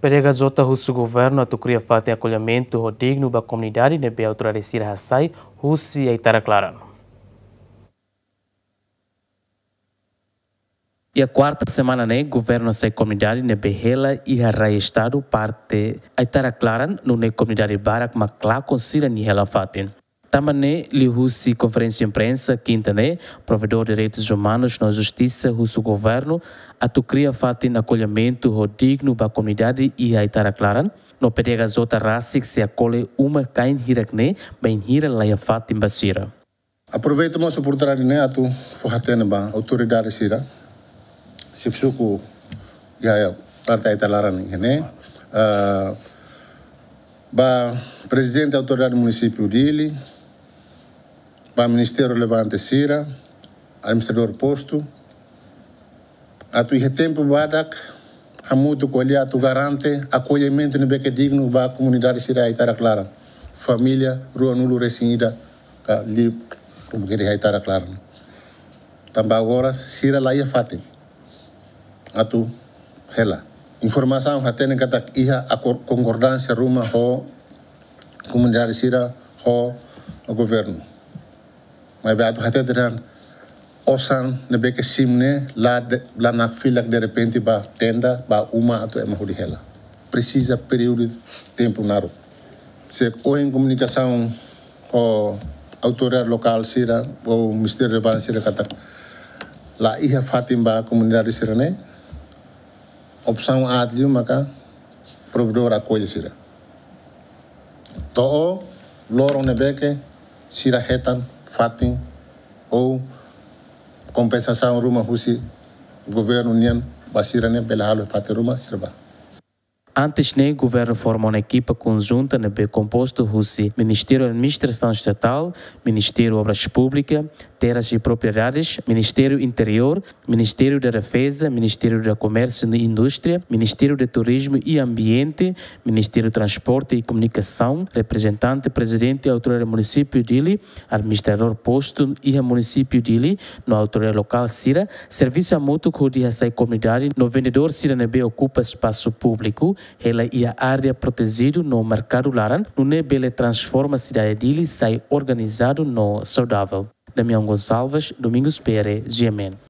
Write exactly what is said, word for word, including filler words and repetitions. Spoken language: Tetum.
P D H J husu governu atu kria fatin akollimentu ho dignu ba komunidade ne'ebé autoridade sira hasai husi Aitarak-Laran. Iha kuarta semana ne'e, governu hasai komunidade ne'ebé hela iha rai estadu parte Aitarak-Laran, nune'e komunidade barak mak lakon sira-nia hela fatin. Tanba ne'e, liuhusi konferénsia imprensa kinta ne'e, Provedór Direitus Umanus no Justisa husu governu atu kria fatin akollimentu ho dignu ba komunidade iha Aitarak-Laran, no P D H J rasik sei akolle uma-kain hirak ne'e bainhira laiha fatin ba sira. Aproveita mós oportunidade ne'e atu fó-hatene ba autoridade sira, xefe suku iha parte Aitarak-Laran iha ne'e, ah, ba prezidente autoridade munisípiu Dili, ba ministériu relevante sira, administradór postu, atu iha tempu badak hamutuk ho eles atu garante akollimentu ne'ebé ke dignu ba komunidade sira Aitarak-Laran. Família ruanulu-resin-ida ka liu, komu ke di Aitarak-Laran. Tanba agora sira laiha fatin atu hela. Informasaun hatene katak iha akor-, konkordánsia ruma ho komunidade sira ho governu. Maibé atu hatete dehan osan ne'ebé ke simu ne'e la de-, la nakfilak derrepente ba tenda, ba uma atu ema hodi hela. Presiza períodu tempu naruk. Se ohin komunikasaun ho autoridade lokál sira ou ministériu relevante sira katak laiha fatin ba komunidade sira ne'e, opsaun aat liu maka provedór akolle sira. To'o loron ne'ebé ke sira hetan fatin ou kompensasaun ruma husi governu nian ba sira ne'e bele halo fatin ruma sira bá. Antes ne'e, governu forma ona ekipa konjunta ne'ebé kompostu husi Ministériu Administrasaun Estatál, Ministériu Obras Públikas, Terras e Propriedades, Ministériu Interiór, Ministériu da Defeza, Ministériu da Komérsiu e Indústria, Ministériu de Turizmu e Ambiente, Ministériu Transporte e Komunikasaun, reprezentante prezidente autoridade munisípiu Dili, administradór postu iha munisípiu Dili, no autoridade lokál sira, servisu hamutuk hodi hasai komunidade no vendedór sira ne'ebé okupa espasu públiku, hela iha área protejidu no merkadu laran, nune'e bele transforma sidade Dili sai organizadu no saudavel. Damião Gonçalves, Domingos Pere, G M N.